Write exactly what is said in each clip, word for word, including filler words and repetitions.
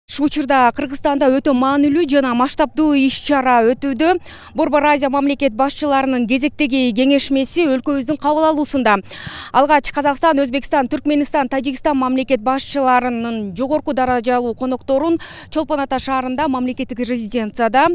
Ушул учурда Кыргызстанда өтө маанилүү жана масштабдуу иш-чара өтүүдө. Борбор Азия мамлекет башчыларынын кезектеги кеңешмеси өлкөбүздүн кабыл алуусунда. Алгач Казакстан, Өзбекстан, Түркмөнстан, Тажикстан мамлекет башчыларынын жогорку даражалуу конокторун Чолпон Ата шаарында мамлекеттик резиденцияда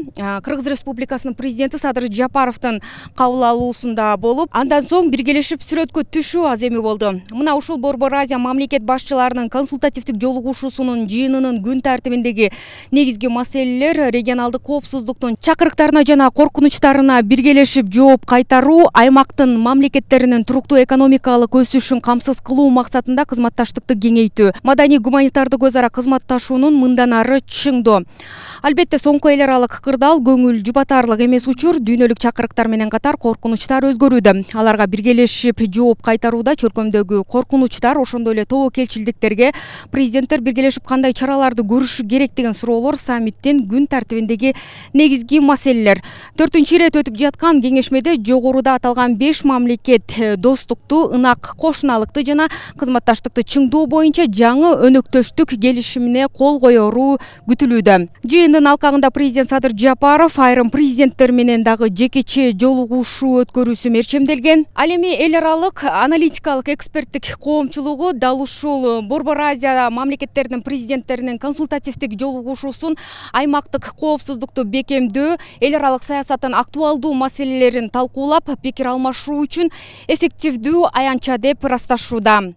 Кыргыз Республикасынын президенти Садыр Жапаровдун кабыл алуусунда болуп, андан соң биргелешип сүрөткө түшүү аземи болду. Мына ушул Борбор Азия мамлекет башчыларынын консультативдик жолугушуусунун жыйынынын күн тартибиндеги негизги маселелер регионалдык коопсуздуктун чакырыктарына жана коркунучтарына биргелешип жооп кайтаруу, аймактын мамлекеттеринин туруктуу экономикалык өсүшүн камсыз кылуу максатында кызматташтыкты кеңейтүү, маданий гуманитардык өз ара кызматташуунун мындан ары чыңдоо. Албетте соңку эл аралык кырдаал көңүл жубатарлык эмес учур дүйнөлүк чакырыктар менен катар коркунучтар өзгөрүүдө. Аларга биргелешип жооп кайтарууда чөлкөмдөгү коркунучтар, ошондой эле тобокелчилдиктерге президенттер биргелешип кандай чараларды көрүшү керек деген суроолор саммиттин күн тартибиндеги негизги маселелер. Төртүнчү ирет өтүп жаткан кеңешмеде жогоруда аталган беш мамлекет достукту, ынак кошуналыкты жана кызматташтыкты чыңдоо боюнча жаңы өнөктөштүк келишимине кол коеру күтүлүүдө. Жыйындын алкагында президент Садыр Жапаров айрым президенттер менен дагы жекече жолугушуу өткөрүүсү мерчемделген. Ал эми эл аралык аналитикалык эксперттик коомчулугу дал ушул Борбор Азия мамлекеттеринин президенттеринин консультативдик жолугушуусун аймактык коопсуздукту бекемдөө, эл аралык саясаттын актуалдуу маселелерин талкуулап, пикир алмашуу үчүн эффективдүү аянтча деп ырасташууда.